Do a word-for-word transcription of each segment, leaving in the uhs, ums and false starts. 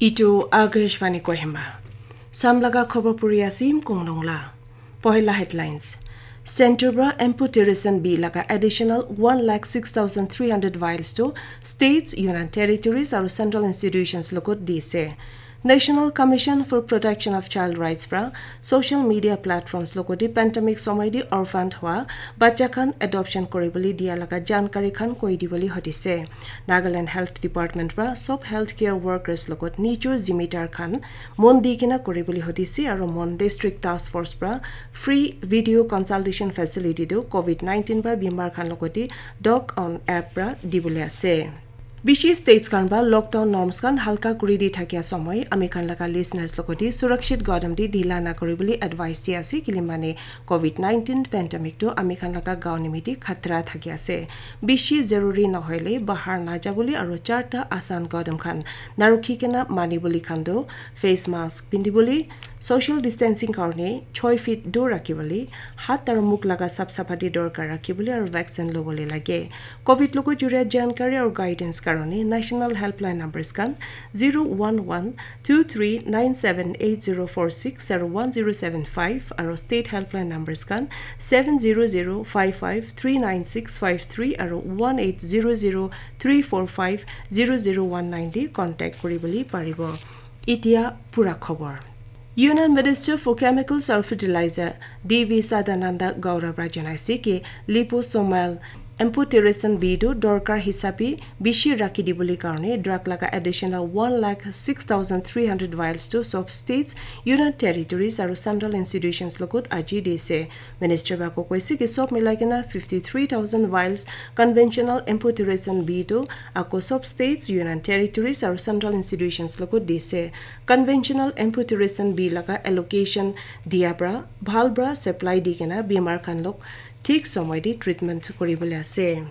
Itu Akashvani Kohima. Samlaga khobor puri asim konglong la. Pohila headlines. Center pra amphotericin B laga additional one lakh six thousand three hundred vials to states, union territories aru central institutions logot dise. National Commission for Protection of Child Rights pra social media platforms logoti pandemic somoy di orphaned hua bacha khan adoption koribole dia laga jankari khan koi dibole hodise. Nagaland Health Department pra sob healthcare workers logot nijor zimidar khan mon di kena koribole hodise aru Mon District Task Force pra free video consultation facility tu covid nineteen pra bimar khan logoti Doc On app pra dibole ase. Bishi states khan pra lockdown norms khan halka kuri di thakia somoy ami khan laga listeners logoti surakshit gadam di dhila na koribole advice di ase kile mane covid nineteen pandemic tu ami khan laga gaon nimiti khatra thaki ase. Bishi zaruri nohoile bahar na jabole aru charta asan gadam khan narukhi kena manibole khan tu face mask pindibole, social distancing karone choi feet dur rakhibole, hat aru mukh laga sap sapati dorkar rakhibole aru vaccine lobole lage. Covid logo juria jankari aru guidance karone national helpline numbers khan zero one one two three nine seven eight zero four six aru one zero seven five aru state helpline numbers khan seven zero zero five five three nine six five three aru one eight zero zero three four five zero zero one nine di contact kuribole paribo. Itia pura khobor. Union Minister for Chemicals and Fertilizer D V Sadananda Gaura pra janaise ki liposomal amphotericin B tu dorkar hisabe bishi rakhi dibole karone drug laga additional one lakh six thousand three hundred vials tu sob states, union territories aru central institutions logot aji dise. Minister pra koise ki sob milai kena fifty three thousand vials conventional amphotericin B tu ako sob states, union territories aru central institutions logot dise. Conventional amphotericin B laga allocation dia pra bhal pra supply di kena bimar khan log thik somoy di treatment kuribole ase.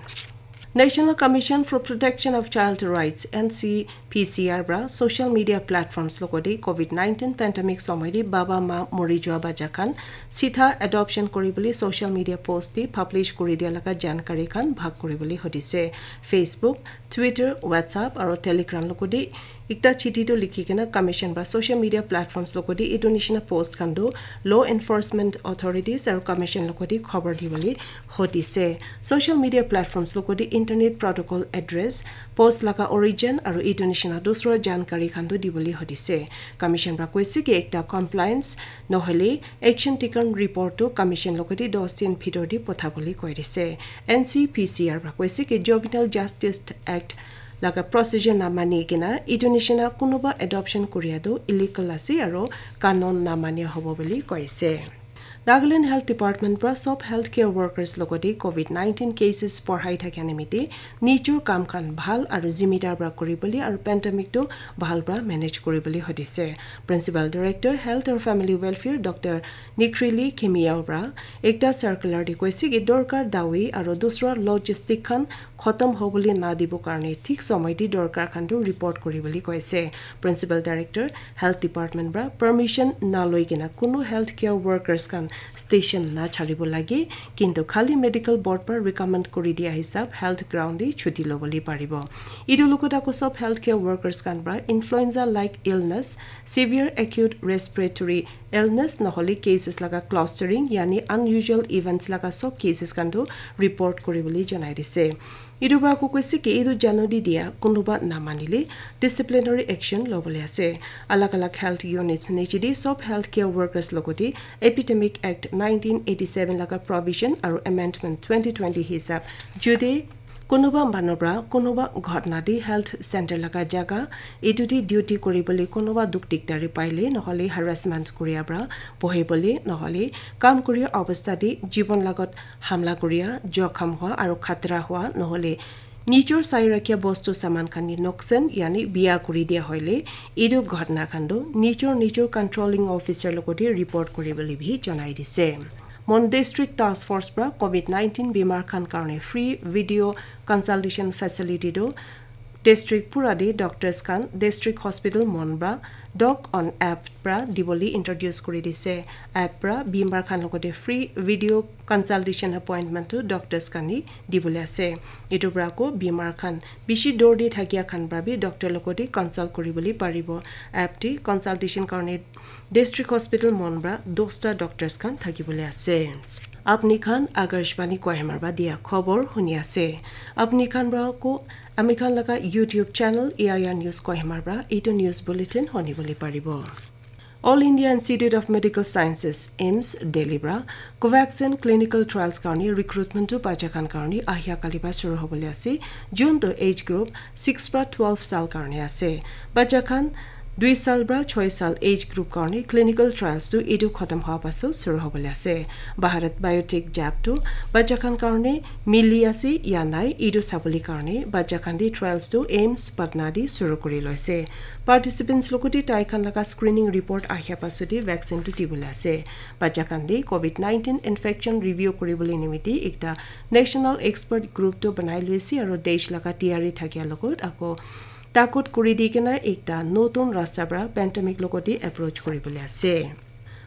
National Commission for Protection of Child Rights, N C P C R pra social media platforms logoti covid nineteen pandemic somoy di baba ma mori jua bacha khan sitha adoption kuribole social media post di publish kuri dia laga jankari khan bhag kuribole hodise. Facebook, Twitter, WhatsApp aru Telegram logoti ekta chithi tu likhi kena commission pra social media platforms logoti itu nishina post khan tu law enforcement authorities aru commission logoti khobor dibole hodise. Social media platforms logoti internet protocol address, post laga origin aru itu nishina dusra jankari khan tu dibole hodise. Commission pra koise ki ekta compliance nohole action taken report tu commission logoti dos din bhitor di pothabole koi dise. N C P C R pra koise ki Juvenile Justice Act laga procedure na mani kena itu nishina kunuba adoption kuria tu illegal ase aru kanun na mani hobo bole koise. Nagaland Health Department pra sob healthcare workers logoti covid nineteen cases porhai thakia nimiti nijor kam khan bhal aru zimidar pra kuribole aru pandemic tu bhal pra manage kuribole hodise. Principal Director Health aru Family Welfare Doctor Nikrili Khimiao pra ekta circular di koise ki dorkar dawi aru dusra logistic khan khotom hobole na dibo karone thik somoy di dorkar khan tu report kuribole koise. Principal Director Health Department pra permission na loi kena kunu healthcare workers khan station na charibo lage, kintu khali medical board pra recommend kuri dia hisab health ground di chuti lobole paribo. Itu logot ako sob healthcare workers khan pra influenza like illness, severe acute respiratory illness nohole cases laga clustering yani unusual events laga sob cases khan tu report kuribole janai dise. Itu pra ako koise ki itu jano di dia kunuba na manile disciplinary action lobole ase. Alag alag health units niche di sob healthcare workers logoti Epidemic Act nineteen eighty seven laga provision aru amendment twenty twenty hisab jude kunuba manu pra kunuba ghotna di health center laga jaga itu di duty kuribole kunuba dukh dikdari paile nohole harassment kuria pra bohibole nohole kam kuria obostha di jibon lagot hamla kuria, jokham hua aru khatra hua nohole nijor sai rakhia bostu saman khan ni noksan yani biya kuri dia hoile itu ghotna khan tu nijor nijor controlling officer logoti report kuribole bi janai dise. Mon District Task Force pra covid nineteen bimar khan karone free video consultation facility tu District pura te doctors khan District Hospital Mon pra Doc on App pra dibole introduce kuri dise. App pra bimar khan logote free video consultation appointment to doctors khan ni dibole ase. Etu pra ko bimar khan bishi dur te thakia khan pra bi doctor logote consult kuribole paribo. App te consultation karne District Hospital Mon pra dosta doctors khan thakibole ase. Apni khan Akashvani Kohima pra dia khobor huni ase. Apni khan pra ko ami khan laga YouTube channel A I R News Kohima pra etu news bulletin huni bole paribo. All India Institute of Medical Sciences, AIIMS, Delhi pra Covaxin clinical trials karni recruitment to bacha khan karni ahia kali pra shuru hobole ase. June to age group six pra twelve sal karni ase. Bacha khan dui sal pra choi sal age group karni clinical trials tu etu khatam hoa paso shuru hobole ase. Bharat Biotech jab tu bacha khan karni mili ase ya nai etu sabole karni bacha khan di trials tu AIIMS Patna di shuru kuri loise. Participants logote tai khan laga screening report ahia paso di vaccine tu dibole ase. Bacha khan di COVID nineteen infection review kuribole nimiti ekta national expert group tu banai loise aro desh laga tiyari thakia logot ako takut kuri di kena ekta notun rasta pra pandemic logote approach kuribole ase.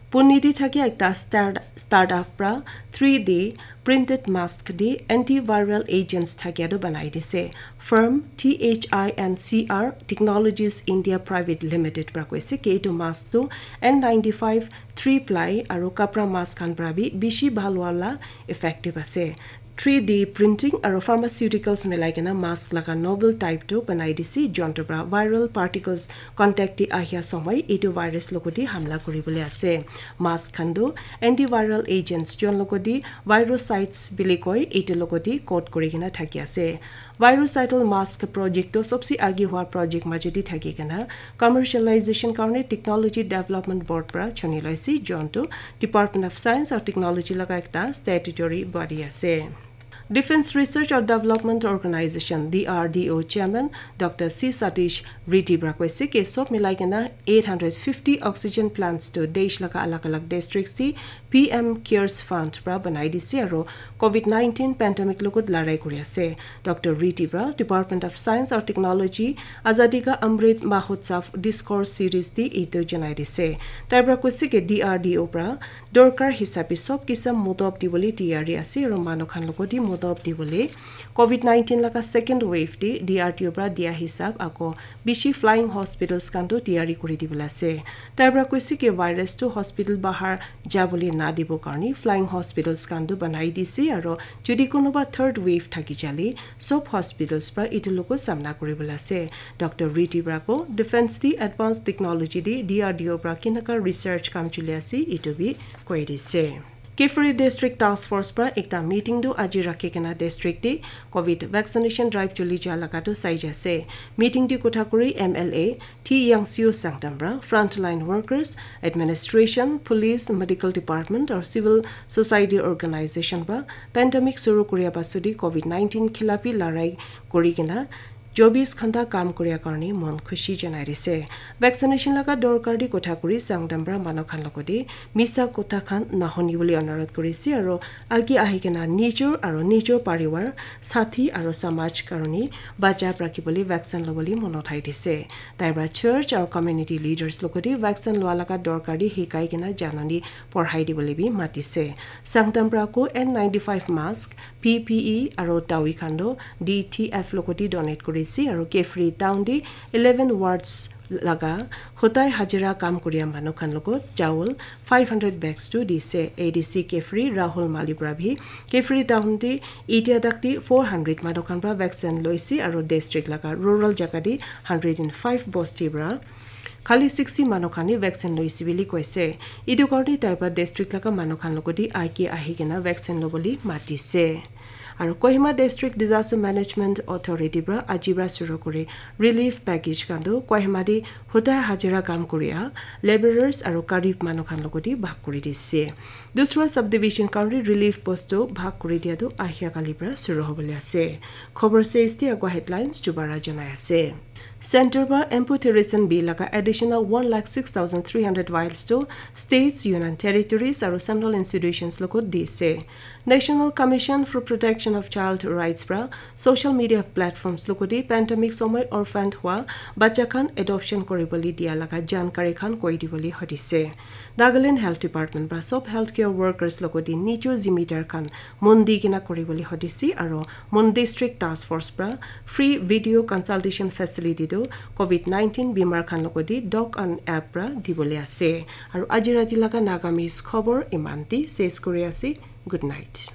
Pune te thakia ekta start, startup pra three D printed mask di antiviral agents thakia tu banai dise. Firm T H I N C R Technologies India Private Limited pra koise ke etu mask tu N ninety-five three ply aro kapra mask khan pra bi bishi bhal wala effective ase. Three D printing aro pharmaceuticals milai kena mask laga novel type tu banai dise, jonto pra viral particles contact te ahia somoi etu virus logote hamla kuribole ase. Mask khan tu antiviral agents jon logote virusides bili koi etu logote coat kuri kena thaki ase. Virucidal mask project tu sobse age hua project majot te thaki kena commercialization karne Technology Development Board pra chuni loise, jonto Department of Science and Technology laga ekta statutory body ase. Defense Research and Development Organization, D R D O Chairman Doctor C Satish Reddy pra koise ke sob milai kena eight hundred fifty oxygen plants tu desh laga alag alag districts te P M Cares Fund pra banai dise aro COVID nineteen pandemic logot larai kuri ase. Doctor Reddy pra Department of Science and Technology Azadi Ka Amrit Mahotsav Discourse Series te etu janai dise. Tai pra koise ke D R D O pra dorkar hisabe sob kisam modop dibole tiyari ase aro manu khan logote modop dibole COVID nineteen laga second wave te D R D O pra dia hisab ako bishi flying hospitals khan tu tiyari kuri dibole ase. Tai pra koise ke virus tu hospital bahar jabole na dibo karne flying hospitals khan tu banai dise aro jodi kunuba third wave thaki jale sob hospitals pra etu logo samna kuribole ase. Doctor Reddy pra ko defense te advanced technology te D R D O pra kinaka research kam chuli ase etu bi koi dise. Kiphire District Task Force pra ekta meeting tu aji rakhi kena district te COVID vaccination drive chuli ja laga tu sai ja ase. Meeting te kotha kuri M L A T Yangsio Sangtam pra frontline workers, administration, police, medical department aru civil society organization pra pandemic shuru kuria pasudi COVID nineteen khilafi larai kuri kena chobis ghanta kam kuria karne mon khushi janai dise. Vaccination laga dorkar di kotha kuri Sangtam pra manu khan logode misa kotha khan nahoni bole anurodh kurise aru age ahi kena nijor aru nijor parivar, sathi aru samaj karone bachai rakhi bole vaccine lobole mon uthai dise. Tai pra church aru community leaders logode vaccine lua laga dorkar di hikai kena janani porhai dibole bi matise. Sangtam pra ko N ninety-five mask, P P E aru dawi khan tu D T F logoti donate kurise aru Kiphire town te eleven wards laga hotai hajira kam kuria manu khan logot chawal five hundred bags tu dise. A D C Kiphire Rahul Mali pra bi Kiphire town te etia tak te four hundred manu khan pra vaccine loise aru district laga rural jaga te hundred and five bosti pra khali sixty manu khan he vaccine loise bili koise. Etu karne tai pra district laga manu khan logoti age ahi kena vaccine lobole matise. Aru Kohima District Disaster Management Authority pra aji pra shuru kuri relief package khan tu Kohima te hotai hajira kam kuria labourers aru garib manu khan logoti bhag kuri dise. Dusra subdivision khan ri relief bostu bhag kuri dia tu ahia kali pra shuru hobole ase. Khobor se isti agua headlines dubara janai ase. Center para Amphotericin B laga additional one lakh six thousand three hundred vials tu states, union territories aru central institutions logot dise. National Commission for Protection of Child Rights para social media platforms logoti pandemic somoy orphaned hua bacha khan adoption koribole dia laga jankari khan koi dibole hodise. Nagaland Health Department para sob healthcare workers logoti nijor zimidar khan mon di kena koribole hodise aru Mon District Task Force para free video consultation facility tu COVID nineteen bimar khan logoti doc and app para dibole ase. Aru aji rati laga Nagamese khobor iman ti ses kuri ase. Good night.